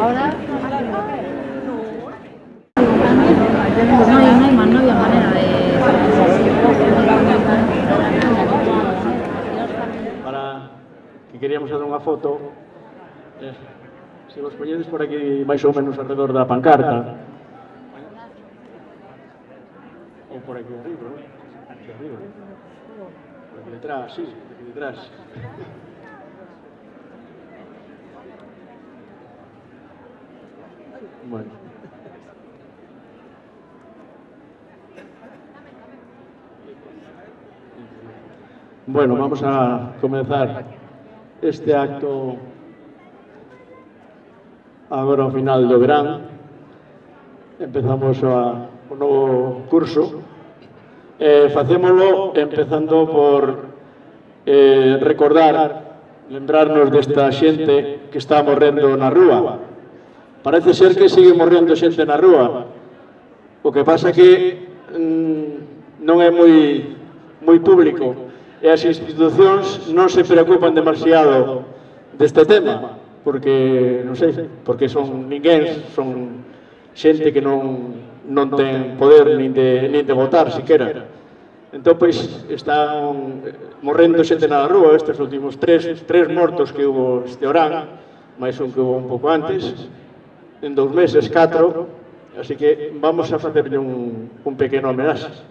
Ahora no había manera de... Para que queríamos hacer unha foto, se vos poñedes por aquí máis ou menos alrededor da pancarta, ou por aquí arriba, ¿no? Aquí arriba, por aquí detrás, sí, por aquí detrás. Bueno. Bueno, vamos a comenzar este acto agora ao final do verán. Empezamos o novo curso. Facémolo empezando por recordar, lembrarnos desta xente que está morrendo na rúa. Parece ser que sigue morrendo xente na rúa. O que pasa que non é moi público. E as institucións non se preocupan demasiado deste tema, porque, non sei, porque son ninguén, son xente que non ten poder nin de votar, siquera. Entón, pois, están morrendo xente na rúa, estes últimos tres mortos que hubo este orán, máis un que hubo un pouco antes, en 2 meses, 4, así que vamos a facerle un pequeno homenaxe.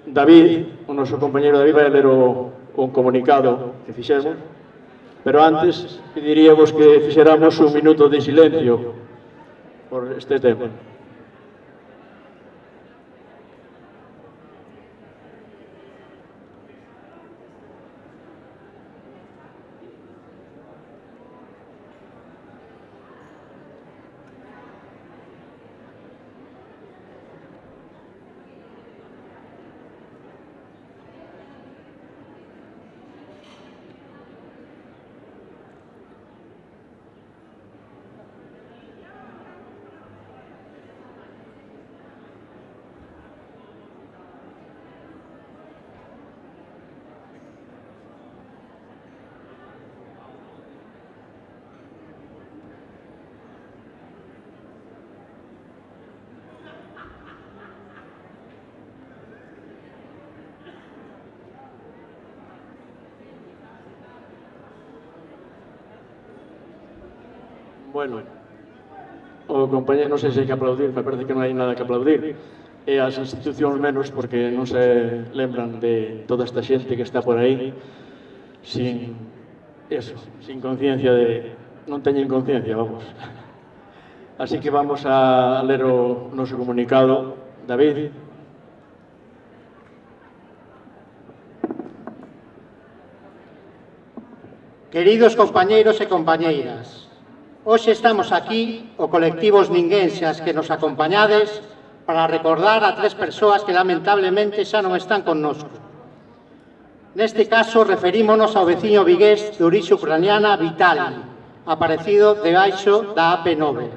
David, o noso compañero David, vai ler un comunicado que fixemos, pero antes pediríamos que fixéramos un minuto de silencio por este tema. Bueno, o compañero, non sei se hai que aplaudir, me parece que non hai nada que aplaudir, e as institucións menos, porque non se lembran de toda esta xente que está por aí sin conciencia de... non teñen conciencia, vamos. Así que vamos a ler o noso comunicado. David. Queridos compañeiros e compañeiras, hoxe estamos aquí, o colectivo Os Ninguenxas que nos acompañades, para recordar a 3 persoas que lamentablemente xa non están connosco. Neste caso, referímonos ao veciño vigués de orixe ucraniana Vitali, aparecido debaixo da AP9.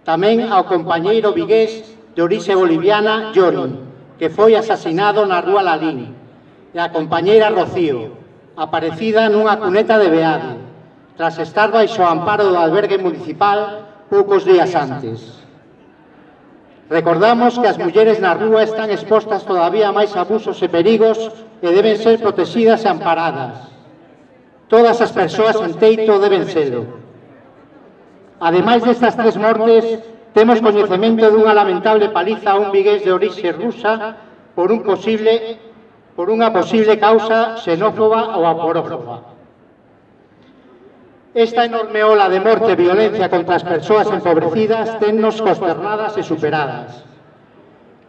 Tamén ao compañeiro vigués de orixe boliviana Johnny, que foi asasinado na rúa Lalín, e a compañeira Rocío, aparecida nunha cuneta de Beade, tras estar baixo o amparo do albergue municipal poucos días antes. Recordamos que as mulleres na rúa están expostas todavía a máis abusos e perigos e deben ser protegidas e amparadas. Todas as persoas en teito deben serlo. Ademais destas 3 mortes, temos coñecemento dunha lamentable paliza a un vigués de orixe rusa por unha posible causa xenófoba ou aporófoba. Esta enorme ola de morte e violencia contra as persoas empobrecidas tennos consternadas e superadas.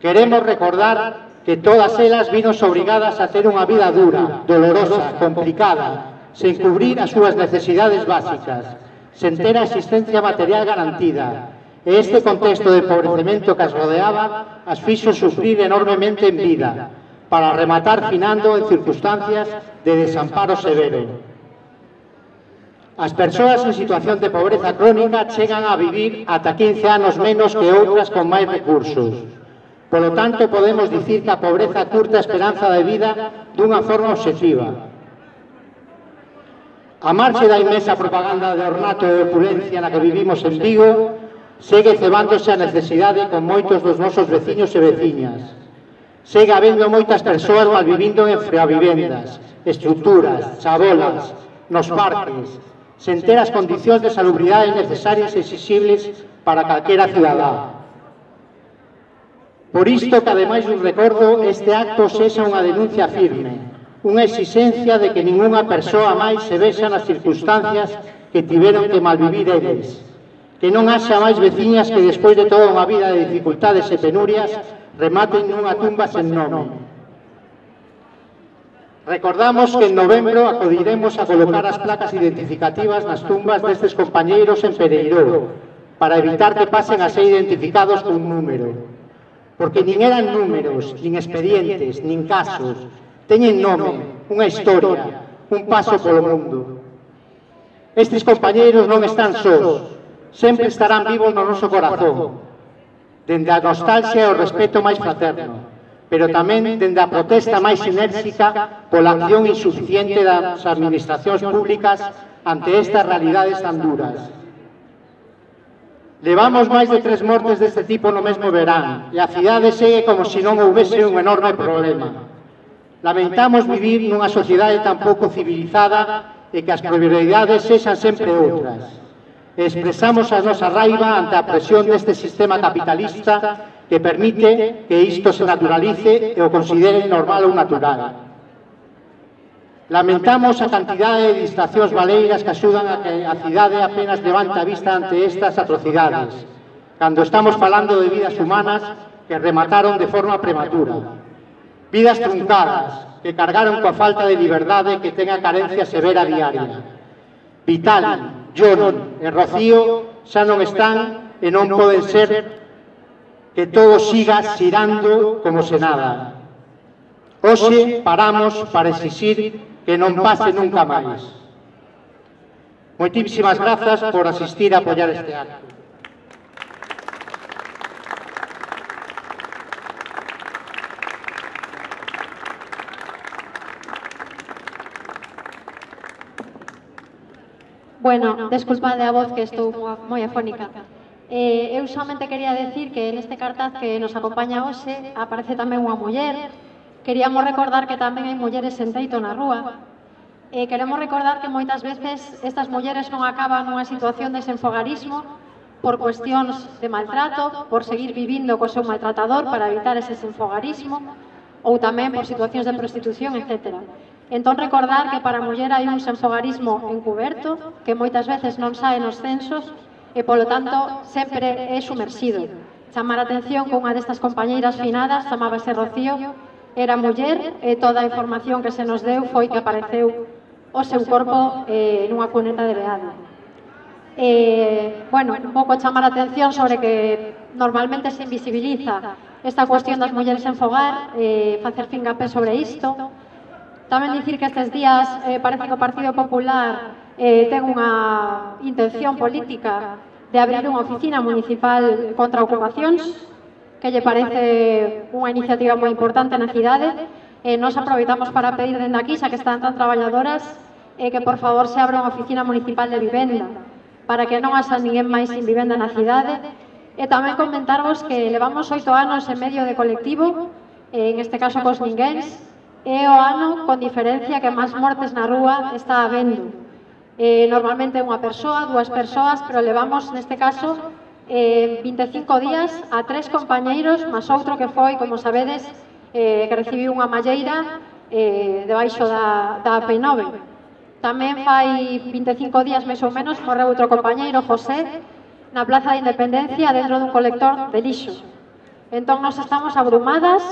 Queremos recordar que todas elas vinos obrigadas a ter unha vida dura, dolorosa, complicada, sen cubrir as súas necesidades básicas, sen ter a existencia material garantida. E este contexto de empobrecemento que as rodeaba as fixo sufrir enormemente en vida, para rematar finando en circunstancias de desamparo severo. As persoas en situación de pobreza crónica chegan a vivir ata 15 anos menos que outras con máis recursos. Polo tanto, podemos dicir que a pobreza curta a esperanza de vida dunha forma obxectiva. A marxe da inmensa propaganda de ornato e opulencia na que vivimos en Vigo, segue cebándose a necesidade con moitos dos nosos veciños e veciñas. Segue habendo moitas persoas malvivindo en freavivendas, estruturas, chabolas, nos parques, sen ter as condicións de salubridade necesarias e exixibles para calquera cidadá. Por isto que, ademais dun recordo, este acto sexa unha denuncia firme, unha exigencia de que ningunha persoa máis se vexa nas circunstancias que tiveron que malvivir eles, que non haxa máis veciñas que despois de toda unha vida de dificultades e penurias rematen nunha tumba sen nome. Recordamos que en novembro acudiremos a colocar as placas identificativas nas tumbas destes compañeiros en Pereiró, para evitar que pasen a ser identificados cun número. Porque nin eran números, nin expedientes, nin casos, teñen nome, unha historia, un paso polo mundo. Estes compañeiros non están sós, sempre estarán vivos no noso corazón, dende a nostalgia e o respeto máis fraterno, pero tamén dende a protesta máis enérxica pola acción insuficiente das administracións públicas ante estas realidades tan duras. Levamos máis de 3 mortes deste tipo no mesmo verán, e a cidade segue como se non houvese un enorme problema. Lamentamos vivir nunha sociedade tan pouco civilizada e que as prioridades sexan sempre outras. Expresamos a nosa raiva ante a presión deste sistema capitalista que permite que isto se naturalice e o considere normal ou natural. Lamentamos a cantidade de distraccións valeiras que axudan a que a cidade apenas levante a vista ante estas atrocidades, cando estamos falando de vidas humanas que remataron de forma prematura. Vidas truncadas, que cargaron coa falta de liberdade que ten a carencia severa diaria. Vitali, Jon e Rocío xa non están e non poden ser que todo siga xirando como se nada. Hoxe paramos para exixir que non pase nunca máis. Moitísimas grazas por asistir a apoiar este acto. Bueno, desculpade a voz que estou moi afónica. Eu somente quería decir que neste cartaz que nos acompaña hoxe aparece tamén unha muller. Queríamos recordar que tamén hai mulleres en teito na rúa. Queremos recordar que moitas veces estas mulleres non acaban nunha situación de desenfogarismo por cuestións de maltrato, por seguir vivindo co seu maltratador para evitar ese desenfogarismo, ou tamén por situacións de prostitución, etc. Entón, recordar que para a muller hai un desenfogarismo encuberto, que moitas veces non sae nos censos, e, polo tanto, sempre é sumerxido. Chamar a atención que unha destas compañeiras finadas, chamábase Rocío, era muller, e toda a información que se nos deu foi que apareceu o seu corpo nunha cuneta de beado. Bueno, un pouco chamar a atención sobre que normalmente se invisibiliza esta cuestión das mulleres en fogar, facer fincapé sobre isto. Tamén dicir que estes días parece que o Partido Popular ten unha intención política de abrir unha oficina municipal contra ocupacións, que lle parece unha iniciativa moi importante na cidade. Nos aproveitamos para pedir dende aquí, xa que están tan traballadoras, que por favor se abra unha oficina municipal de vivenda, para que non haxa ninguén máis sin vivenda na cidade. E tamén comentarvos que levamos 8 anos en medio de colectivo, en este caso cos ninguéns, é o ano con diferencia que máis mortes na rúa está habendo. Normalmente unha persoa, 2 persoas, pero levamos neste caso 25 días a 3 compañeiros, máis outro que foi, como sabedes, que recibiu unha malleira debaixo da AP9. Tamén fai 25 días, máis ou menos, morreu outro compañeiro, José, na Plaza de Independencia, dentro dun colector de lixo. Entón, nos estamos abrumadas,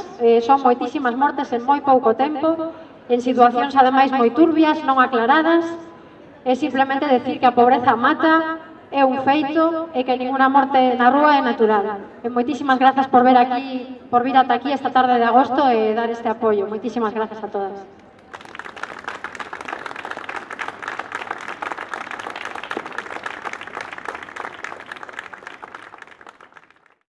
son moitísimas mortes en moi pouco tempo, en situacións ademais moi turbias, non aclaradas. É simplemente decir que a pobreza mata, é un feito, e que ninguna morte na rúa é natural. E moitísimas grazas por vir ata aquí esta tarde de agosto e dar este apoio. Moitísimas grazas a todas.